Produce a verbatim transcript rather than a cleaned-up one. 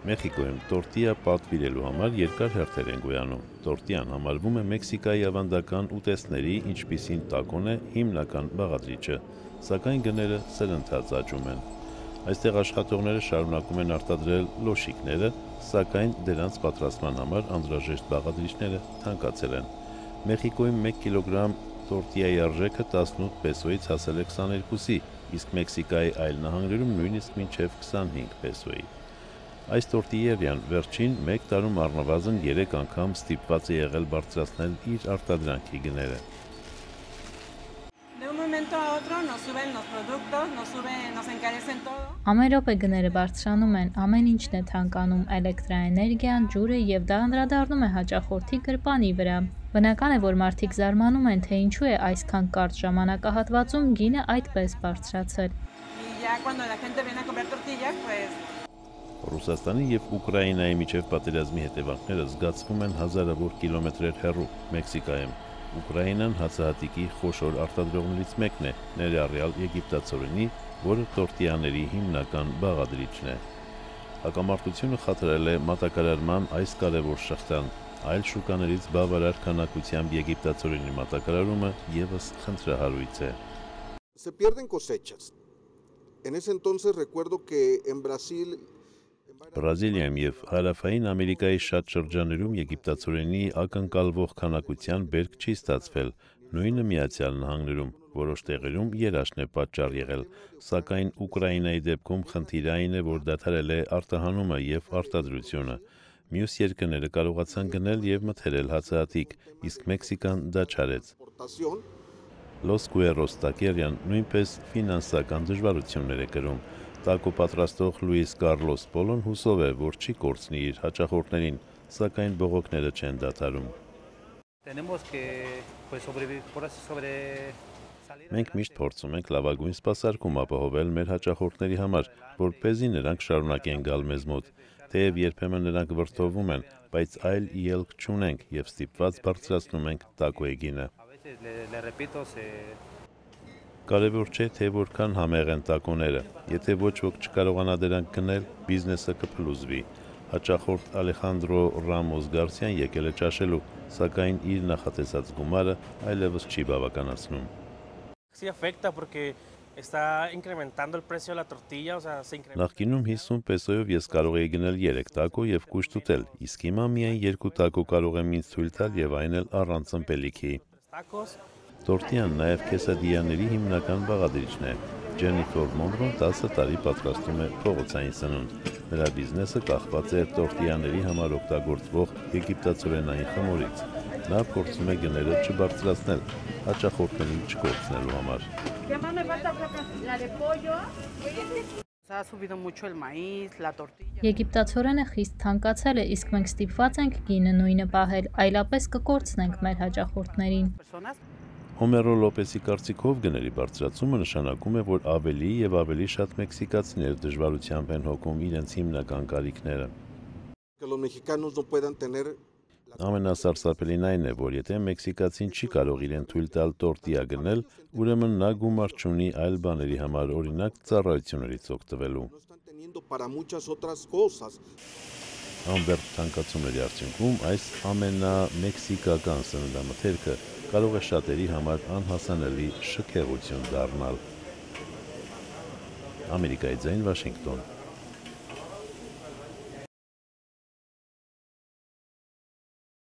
Մեխիկոյում տորտիա պատվիրելու համար երկար հերթեր են գոյանում։ Տորտիան համարվում է Մեքսիկայի ավանդական ուտեստների, ինչպիսին տակոն է, հիմնական բաղադրիչը, սակայն գները սրընթաց աճում են։ Այստեղ աշխատողները շարունակում են արտադրել լոշիկները, սակայն դրանց պատրաստման համար անհրաժեշտ բաղադրիչները թանկացել են։ Մեխիկոյում մեկ կիլոգրամ տորտիայի արժեքը տասնութ պեսոյից հասել է քսաներկուսի, իսկ Մեքսիկայի այլ նահանգներում նույնիսկ մինչև քսանհինգ պեսոյի։ Այս տորտիերյան վերջին մեկ տարում առնվազն երեք անգամ ստիպված է եղել բարձրացնել իր արտադրանքի գները։ Ամեն րոպե գները բարձրանում են, ամեն ինչն է թանկանում, էլեկտրաէներգիան, ջուրը, եւ դա անդրադառնում է հաճախորդի գրպանի վրա։ Բնական է, որ մարդիկ զարմանում են, թե ինչու է այսքան կարճ ժամանակահատվածում գինը այդպես բարձրացել։ Ռուսաստանի եւ Ուկրաինայի միջև պատերազմի հետևանքները զգացվում են հազարավոր կիլոմետրեր հեռու Մեքսիկայում։ Ուկրաինան հացահատիկի խոշոր արտադրողներից մեկն է, ներառյալ եգիպտացորենի, որը տորտիաների հիմնական բաղադրիչն է։ Հակամարտությունը խաթարել է մատակարարման այս կարևոր շղթան, այլ շուկաներից բավարար քանակությամբ եգիպտացորենի մատակարարումը եւս խնդրահարույց է։ Se pierden cosechas. En ese entonces recuerdo que en Brasil Բրազիլիայում եւ Հարավային Ամերիկայի շատ շրջաններում եգիպտացորենի ակնկալվող քանակության բերք չի ստացվել, նույնը Միացյալ Նահանգներում, որոշ տեղերում երաշն է պատճառ եղել, սակայն Ուկրաինայի դեպքում խնդիրը այն է, որ դադարել է արտահանումը եւ արտադրությունը։ Մյուս երկրները կարողացան գնել եւ մթերել հացահատիկ, իսկ Մեքսիկան դա չարեց։ Los Cuerros տակերյան նույնպես ֆինանսական դժվարություններ է կրում։ Տակո պատրաստող Լուիս Կարլոս Պոլոն հուսով է, որ չի կորցնի իր հաճախորդներին, սակայն բողոքները չեն դադարում։ Մենք միշտ փորձում ենք լավագույն սպասարկում ապահովել մեր հաճախորդների համար, որպեսզի նրանք շարունակեն գալ մեզ մոտ, թեև երբեմն նրանք վրդովում են, բայց այլ ելք չունենք եւ ստիպված բարձրացնում ենք տակոյի գինը։ Կարևոր չէ, թե որքան համեղ են տակոները, եթե ոչ ոք չկարողանա դրանք գնել, բիզնեսը կփլուզվի։ Հաճախորդ Ալեխանդրո Ռամոս Գարսիան եկել է ճաշելու, սակայն իր նախատեսած գումարը այլևս չի բավականացնում։ Նախկինում հիսուն պեսոյով ես կարող էի գնել երեք տակո եւ կուշտ ուտել, իսկ հիմա միայն երկու տակո կարող եմ ինձ թույլ տալ եւ այն էլ առանց ըմպելիքի։ Տորտիան նաև քեսադիաների հիմնական բաղադրիչն է։ Ջենիֆեր Մոնրոն տասը տարի պատրաստում է փողոցային սնունդ։ Նրա բիզնեսը կախված է տորտիաների համար օգտագործվող եգիպտացորենային խմորից։ Նա փորձում է գները չբարձրացնել, հաճախորդներին չկորցնելու համար։ Եգիպտացորենը խիստ թանկացել է, իսկ մենք ստիպված ենք գինը նույնը պահել, այլապես կկորցնենք մեր հաճախորդներին։ Հոմերո Լոպեսի կարծիքով գների բարձրացումը նշանակում է, որ ավելի եւ ավելի շատ մեքսիկացիներ դժվարությամբ են հոգում իրենց հիմնական կարիքները։ Ամենասարսափելին այն է, որ եթե մեքսիկացին չի կարող իրեն թույլ տալ տորտիա գնել, ուրեմն նա գումար չունի այլ բաների համար, օրինակ ծառայություններից օգտվելու։ Ամբերտ թանկացումների արդյունքում այս ամենամեքսիկական սննդամթերքը կարող է շատերի համար անհասանելի շքեղություն դառնալ։ Ամերիկայի ձայն, Վաշինգտոն։